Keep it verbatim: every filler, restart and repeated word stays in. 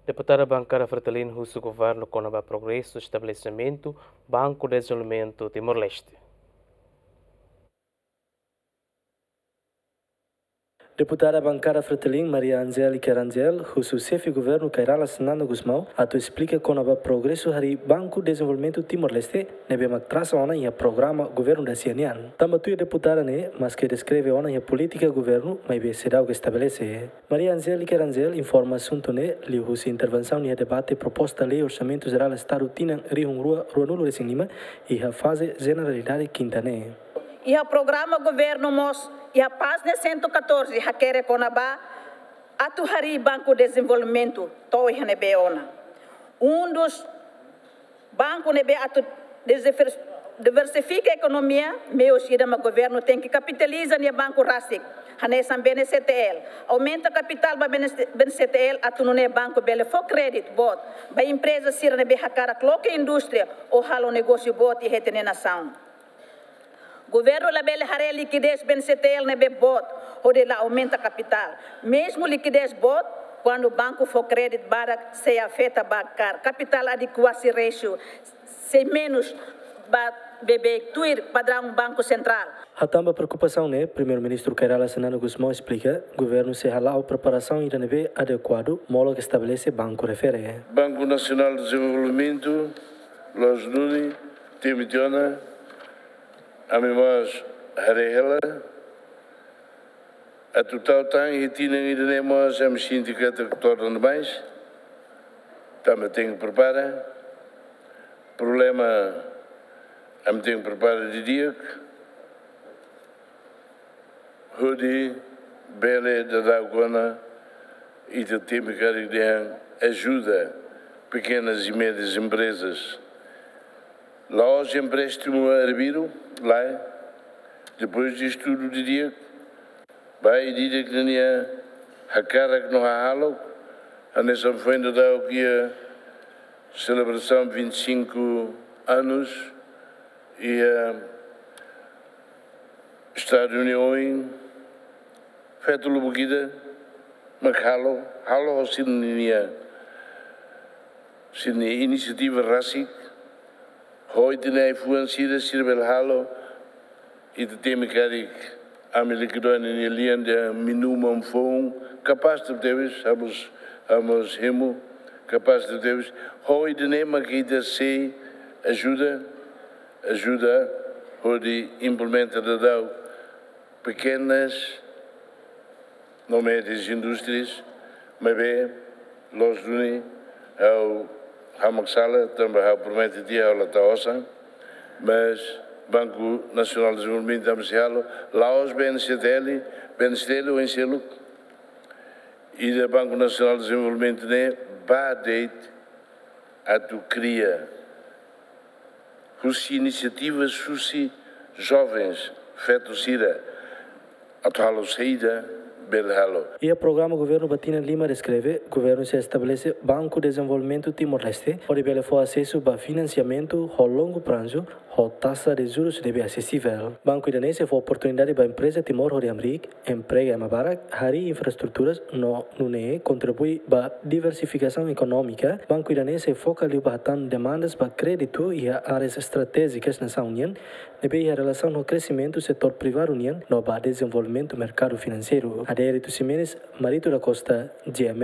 Deputada Bankada Fretilin husu governu kona-ba progresu estabelesimentu Banku Dezenvolvimentu Timor-Leste. Deputada Bankada Fretilin, Maria Angélica Rangel, husu Xefe Governu Kay Rala Xanana Gusmão atu esplika kona-ba progresu harii Banku Dezenvolvimentu Timor-Leste, ne'ebé mak trasa ona iha programa governu da-sia nian. Tanba tuir deputada ne'e, maske deskreve ona iha polítika governu, maibé seidauk estabelese. Maria Angélica Rangel informa asuntu ne'e liuhusi intervensaun iha debate proposta lei Orsamentu Jerál Estadu tinan rihun rua ruanulu-resin-lima iha faze jeneralidade kinta ne'e. Iha programa governu mós, iha pájina cento e catorze, hakerek kona-ba atu harii Banku Dezenvolvimentu to'o iha ne'ebé ona. Um dos banku ne'ebé atu diver-, diversifika ekonomia, meius ida mak governu tenke kapitaliza nia banku rasik, hanesan BNCTL. Aumenta kapitál ba BNCTL atu nune'e banku bele fó kréditu boot ba empreza sira ne'ebé hakarak loke indústria ou halo negósiu boot iha ita-nia nasaun. Governu labele haree likidez BNCTL ne'ebé boot hodi la aumenta kapitál. Mezmu likidez boot, kuandu banku fó kréditu barak, sei afeta ba kar kapitál adekuasi ratio, sei menus ba beibeik tuir padraun Banku Sentrál. Hatán ba preokupasaun ne'e, Primeiru-Ministru Kay Rala Xanana Gusmão esplika, governu sei hala'o preparasaun ida ne'ebé adekuadu, molok estabelese banku refere. Banku Nasionál Dezenvolvimentu, loos duni, temi tiha ona, ami mós haree hela, atu tau tan iha tinan ida-ne'e mós ami sente katak torna demais, tanba tenke prepara. Problema ami tenke prepara didi'ak, hodi bele daudaun ona ita temi karik dehan ajuda pekenas e médias emprezas. La'ós empréstimu arbiru, lae. Depois de estudu didi'ak, ba ida-idak nia hakarak no hahalok, hanesan foin daudauk iha selebrasaun vinte e cinco anos, iha Estadu nia oin, feto lubuk ida mak halo, halo ho sira-nia, sira-nia inisiativa rasik, ho ita-nia ai-fuan sira, sira bele halo, ita temi karik ami Liquidonia nia lian dehan minuman foun, kapás tebes, ha'u mós, ha'u mós hemu, kapás tebes, ho ida-ne'e mak ita sei ajuda, ajuda hodi implementa daudaun pekenas no médias indústrias, maibé loos duni ha'u hamak sala, tanba ha'u promete tiha ha'u la tau osan, mas Banku Nasionál Dezenvolvimentu ami sei halo, la'ós BNCTL, BNCTL oin seluk, ida Banku Nasionál Dezenvolvimentu ne'e ba de'it atu kria husi inisiativas husi jovens, feto sira, atu halo saida bele halo. Iha programa governu ba tinan lima deskreve, governu sei estabelese Banku Dezenvolvimentu Timor-Leste, hodi bele fó asesu ba finansiamentu ho longu prazu, ho taxa de juros ne'ebé asesivel. Banku ida-ne'e sei fó oportunidade ba empreza Timor hodi hamriik, emprega ema barak, harii infraestruturas no nune'e kontribui ba diversifikasaun ekonómika. Banku ida-ne'e sei foka liu ba hatán demandas ba kréditu iha áreas estratéjikas nasaun nian, ne'ebé iha relasaun ho kresimentu setór privadu nian no ba dezenvolvimentu merkadu finanseiru. Adérito Ximenes, Marito da Costa, GMN.